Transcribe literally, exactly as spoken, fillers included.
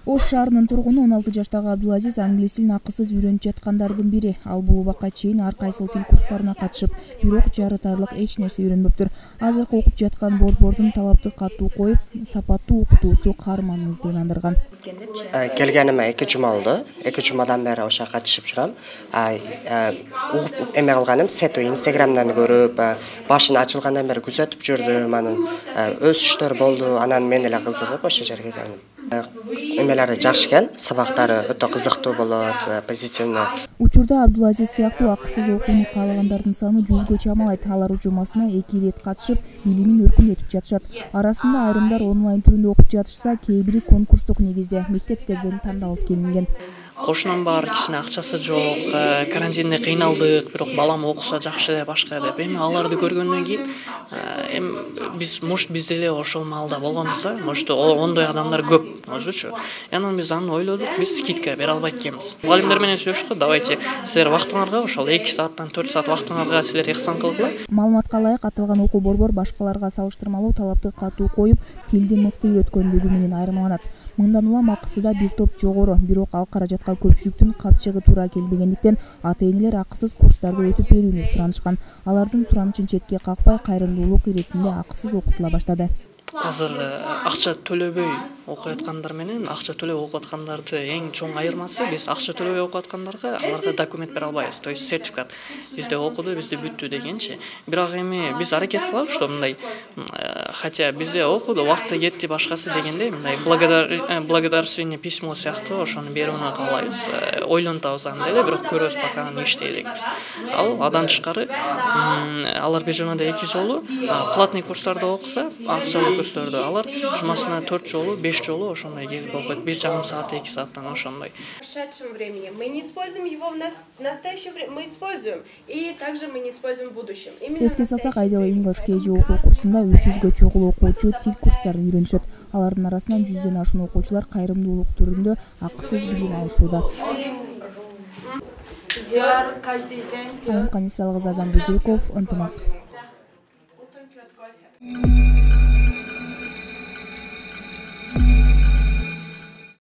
Ош шаарынын тургуну он алты жаштагы Абдулазиз англис тилин акысыз үйрөнүп жаткандардын бири. Ал бул убакка чейин ар кайсыл тил курстарына катышып, бирок жарытарлык эч нерсе үйрөнбөптүр. Азыркы окуп жаткан борбордун талапты катуу коюп, сапаттуу окутуусу каарманыбызды ынандырган. Келгениме эки жума болду. эки жумадан бери ошо катышып жүрөм. Эме кылганым сету Инстаграмдан көрүп, башын ачылгандан бери күзөтүп жүрдүм. Анан өсүштөр болду. Анан мен эле кызыгып ошо жерге келдим. Эмелери жакшы экен, сабактары өтө кызыктуу болот, позитивный. Учурда Абдулазиз сыяктуу акысыз окууну каалагандардын саны жүзгө чамалайт. Алар жумасына эки ирет катышып, билимин өркүндөтүп жатышат. Арасында айрымдар онлайн түрүндө окуп жатышса, кээ бири конкурстук негизде мектептерден тандалып келинген. Кошунам бар, кичине акчасы жок, карантинде кыйналдык, бирок балам окуса жакшы эле башка деп. Эми аларды көргөндөн кийин эми биз может биз деле ошол маалда болгонбуз да, может ондой адамдар көп, өзүчү. Анан биз аны ойлодук, биз скидка бере албайт экенбиз. Мугалимдер менен сүйлөштүк, давайте силер вактыңарга ошол эки сааттан төрт саат вактыңарга силер ихсан кылгыла. Маалыматка ылайык, аталган окуу борбор башкаларга салыштырмалуу талапты катуу коюп, тилди мыкты үйрөткөнлүгү менен айырмаланат. Мындан улам акысы да бир топ жогору, бирок ал каражатка көпчүлүктүн капчыгы туура келбегендиктен ата-энелер акысыз курстарды өтүп берүүнү суранышкан. Алардын суранычын четке какпай, кайрымдуулук иретинде акысыз окутула баштады. Азыр акча төлөбөй окуп аткандар менен акча төлөп окуп аткандарды эң чоң айырмасы биз акча төлөбөй окуп аткандарга аларга документ бере албайбыз, то есть сертификат. Бизде окуду, бизде бүттү дегенчи. Бирок эми биз аракет кылабыз, что мындай, хотя бизде окуду, вакыты кетти башкасы дегенде, мындай благодарственное письмо сыяктуу ошону берүүнү каалайбыз. Ойлонтабыз аны деле, бирок көрөбүз пока аны иштей элекпиз. Ал адан тышкары алар бир жумада эки жолу платный курстарда окуса, акчалуу курстарды алар жумасына төрт жолу, беш жолу ошондой келип окуйт. бир жарым саат, эки сааттан ошондой. В прошедшем времени мы не используем его, в настоящее время мы используем, и также мы не используем в будущем. Эске салсак, Айдел English кей жи окуу курсунда үч жүзгө чогуу окуучу тил курстарын үйрөнүшөт. Алардын арасынан жүздөн ашуун окуучулар кайрымдуулук түрүндө акысыз билим алышууда. Айым Канисалгызы, Азан Бузерков, Ынтымак.